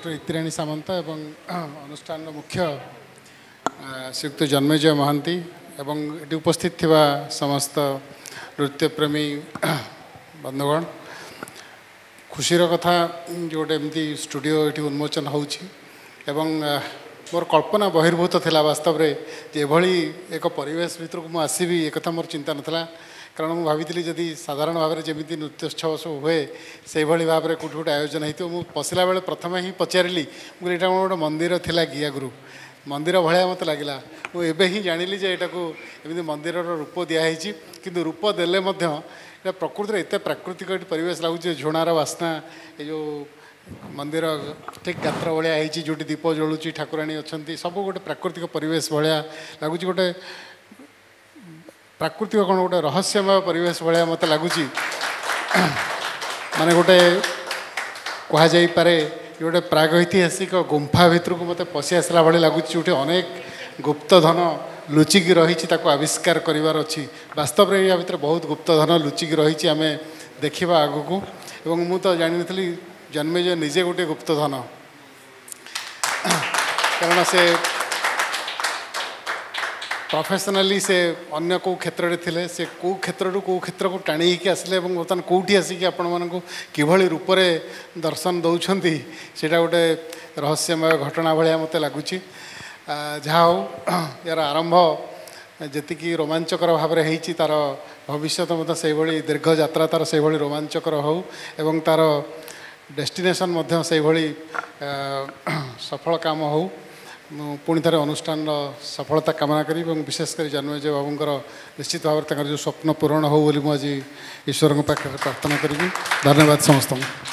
Doctor Itirani ସାମନ୍ତ ଏବଂ ଅନୁଷ୍ଠାନର ମୁଖ୍ୟ ଶ୍ରୀଯୁକ୍ତ ଜନ୍ମେଜୟ ମହାନ୍ତି ଏବଂ ଏଠି ଉପସ୍ଥିତ ଥିବା ସମସ୍ତ ନୃତ୍ୟପ୍ରେମୀ ବନ୍ଧୁଗଣ, ଖୁସିର କଥା ଯେ ଗୋଟେ ଏମିତି ଷ୍ଟୁଡ଼ିଓ ଏଠି ଉନ୍ମୋଚନ ହେଉଛି ଏବଂ ମୋର କଳ୍ପନା ବହିର୍ଭୂତ ଥିଲା ବାସ୍ତବରେ ଯେ ଏଭଳି ଏକ ପରିବେଶ ଭିତରକୁ ମୁଁ ଆସିବି ଏକଥା ମୋର ଚିନ୍ତା ନଥିଲା। କାରଣ ମୁଁ ଭାବିଥିଲି ଯଦି ସାଧାରଣ ଭାବରେ ଯେମିତି ନୃତ୍ಯೋତ୍ସବ ସବୁ ହୁଏ ସେଇଭଳି ଭାବରେ କେଉଁଠି ଗୋଟେ ଆୟୋଜନ ହେଇଥିବ। ମୁଁ ପଶିଲା ବେଳେ ପ୍ରଥମେ ହିଁ ପଚାରିଲି, ମୁଁ କହିଲି ଏଇଟା କ'ଣ ଗୋଟେ ମନ୍ଦିର ଥିଲା କି ଆଗରୁ? ମନ୍ଦିର ଭଳିଆ ମୋତେ ଲାଗିଲା। ମୁଁ ଏବେ ହିଁ ଜାଣିଲି ଯେ ଏଇଟାକୁ ଏମିତି ମନ୍ଦିରର ରୂପ ଦିଆହେଇଛି, କିନ୍ତୁ ରୂପ ଦେଲେ ମଧ୍ୟ ଏଇଟା ପ୍ରକୃତିରେ ଏତେ ପ୍ରାକୃତିକ ଏଠି ପରିବେଶ ଲାଗୁଛି। ଝୁଣାର ବାସ୍ନା, ଏ ଯେଉଁ ମନ୍ଦିର ଠିକ୍ ଗାତ୍ର ଭଳିଆ ହେଇଛି, ଯେଉଁଠି ଦୀପ ଜଳୁଛି, ଠାକୁରାଣୀ ଅଛନ୍ତି, ସବୁ ଗୋଟେ ପ୍ରାକୃତିକ ପରିବେଶ ଭଳିଆ ଲାଗୁଛି। ଗୋଟେ ପ୍ରାକୃତିକ କ'ଣ ଗୋଟେ ରହସ୍ୟମୟ ପରିବେଶ ଭଳିଆ ମୋତେ ଲାଗୁଛି। ମାନେ ଗୋଟେ କୁହାଯାଇପାରେ ଗୋଟେ ପ୍ରାଗୈତିହାସିକ ଗୁମ୍ଫା ଭିତରକୁ ମୋତେ ପଶି ଆସିଲା ଭଳି ଲାଗୁଛି, ଯେଉଁଠି ଅନେକ ଗୁପ୍ତଧନ ଲୁଚିକି ରହିଛି, ତାକୁ ଆବିଷ୍କାର କରିବାର ଅଛି। ବାସ୍ତବରେ ୟା ଭିତରେ ବହୁତ ଗୁପ୍ତଧନ ଲୁଚିକି ରହିଛି, ଆମେ ଦେଖିବା ଆଗକୁ। ଏବଂ ମୁଁ ତ ଜାଣିନଥିଲି ଜନ୍ମେଜୟ ନିଜେ ଗୋଟିଏ ଗୁପ୍ତଧନ, କାରଣ ସେ ପ୍ରଫେସନାଲି ସେ ଅନ୍ୟ କେଉଁ କ୍ଷେତ୍ରରେ ଥିଲେ, ସେ କେଉଁ କ୍ଷେତ୍ରରୁ କେଉଁ କ୍ଷେତ୍ରକୁ ଟାଣି ହେଇକି ଆସିଲେ ଏବଂ ବର୍ତ୍ତମାନ କେଉଁଠି ଆସିକି ଆପଣମାନଙ୍କୁ କିଭଳି ରୂପରେ ଦର୍ଶନ ଦେଉଛନ୍ତି, ସେଇଟା ଗୋଟେ ରହସ୍ୟମୟ ଘଟଣା ଭଳିଆ ମୋତେ ଲାଗୁଛି। ଯାହା ହଉ, ଏହାର ଆରମ୍ଭ ଯେତିକି ରୋମାଞ୍ଚକର ଭାବରେ ହେଇଛି, ତା'ର ଭବିଷ୍ୟତ ମଧ୍ୟ ସେଇଭଳି ଦୀର୍ଘ ଯାତ୍ରା ତା'ର ସେଇଭଳି ରୋମାଞ୍ଚକର ହେଉ ଏବଂ ତା'ର ଡେଷ୍ଟିନେସନ୍ ମଧ୍ୟ ସେଇଭଳି ସଫଳ କାମ ହେଉ। ମୁଁ ପୁଣି ଥରେ ଅନୁଷ୍ଠାନର ସଫଳତା କାମନା କରିବି ଏବଂ ବିଶେଷ କରି ଜନ୍ମେଜୟ ବାବୁଙ୍କର ନିଶ୍ଚିତ ଭାବରେ ତାଙ୍କର ଯେଉଁ ସ୍ୱପ୍ନ ପୂରଣ ହେଉ ବୋଲି ମୁଁ ଆଜି ଈଶ୍ୱରଙ୍କ ପାଖରେ ପ୍ରାର୍ଥନା କରିବି। ଧନ୍ୟବାଦ ସମସ୍ତଙ୍କୁ।